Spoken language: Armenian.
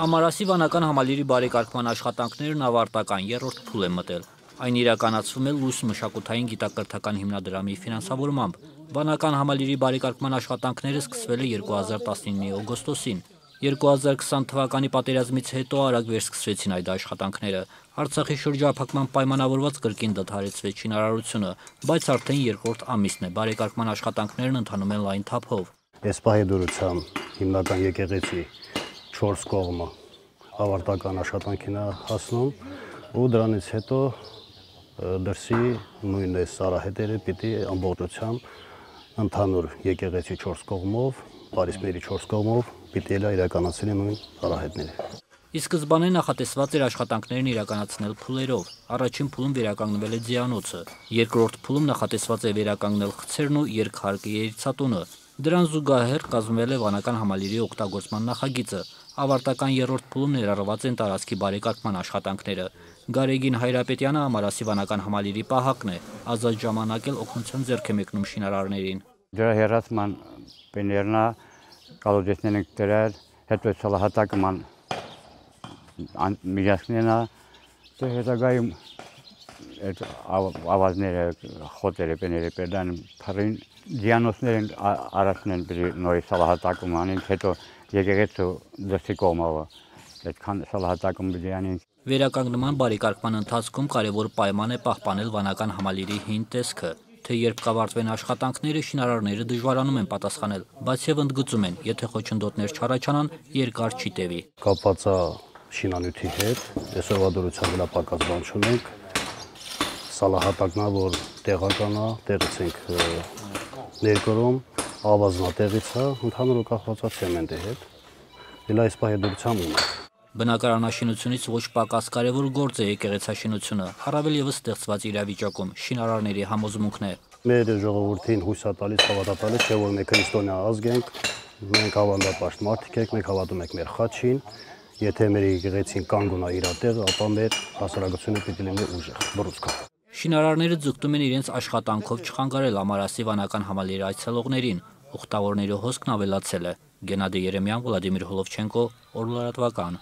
Ամարասի վանական համալիրի բարեկարգման աշխատանքներն ավարտական երրորդ փուլ են մտել։ Այն իրականացվում է Լույս մշակութային գիտակրթական հիմնադրամի ֆինանսավորմամբ։ Վանական համալիրի բարեկարգման աշխատանքները սկսվել է 2019-ի օգոստոսին։ 2020 թվականի պատերազմից հետո արագ վերսկսվեցին այդ աշխատանքները։ Արցախի շրջափակման պայմանավորված կրկին դադարեցվեց շինարարությունը, բայց արդեն երկրորդ ամիսն է բարեկարգման աշխատանքներն ընթանում են լայն թափով։ Էսպահի դուրսամ հիմնական եկեղեցի 4 կողմը ավարտական աշխատանքին է հասնում ու դրանից հետո դրսի նույն այս սարահետերը պիտի ամբողջությամբ ընդհանուր եկեղեցի 4 կողմով, Փարիսների 4 կողմով պիտի իրականացնի նույն սարահետները։ Ի սկզբանե նախատեսված էր աշխատանքներն իրականացնել փուլերով։ Առաջին փուլում վերականգնվել է ձիանոցը, երկրորդ փուլում նախատեսված է վերականգնել խցերն ու երկհարկի երիցատունը։ Դրան զուգահեռ կազմվել է վանական համալիրի օգտագործման նախագիծը։ Ավարտական երրորդ փուլում ներառված են տարածքի բարեկարգման աշխատանքները։ Գարեգին Հայրապետյանը Ամարասի վանական համալիրի պահակն է, ազատ ժամանակ էլ օգնության ձեռք է մեկնում շինարարներին։ Դրա հերացման բներնա կալոդեսներն են դրել, հետո սալահատակման միջազգնենա, դե հետագայում այդ ավազները, խոտերը, բները պերդան փարին դիանոսներն առաջնեն նորի սալահատակում անին, հետո եկեղեցու դրսի կողմով այդքան սալահատակում բիանին։ Վերականգնման բարեկարգման ընթացքում կարևոր պայման է պահպանել վանական համալիրի հին տեսքը, թե երբ կավարտվեն աշխատանքները, շինարարները դժվարանում են պատասխանել, բայց եւ ընդգծում են, եթե խոչընդոտներ չառաջանան, երկար չի տևի։ Կապված է շինանյութի հետ, այսօրվա դրությամբ վրա պակաս բան չունենք, սալահատակն է, որ տեղական է, տեղից ենք ներկրում, ավազնա տեղից է, ընդհանուր կախված է ցեմենտի հետ, դիլա Էսպահի դրությամբ ունենք։ Բնակարանաշինությունից ոչ պակաս կարևոր գործ է եկեղեցաշինությունը, առավել եւս ստեղծված իրավիճակում, շինարարների համոզմունքն է։ Մեր ժողովրդին հույս է տալիս, հավատալիս, թե որ մենք քրիստոնյա ազգ ենք, մենք հավանդապաշտ մարդիկ ենք, մենք հավատում ենք մեր խաչին, եթե մեր եկեղեցին կանգուն է իր տեղը, ապա մեր հասարակությունը պիտի լինի ուժեղ, բռունցք։ Շինարարները ձգտում են իրենց աշխատանքով չխանգարել Ամարասի վանական համալիրի այցելողներին, ուխտավորների հոսքն ավելացել է։ Գենադի Երեմյան, Վլադիմիր Հոլովչենկո, Օրլարատվական։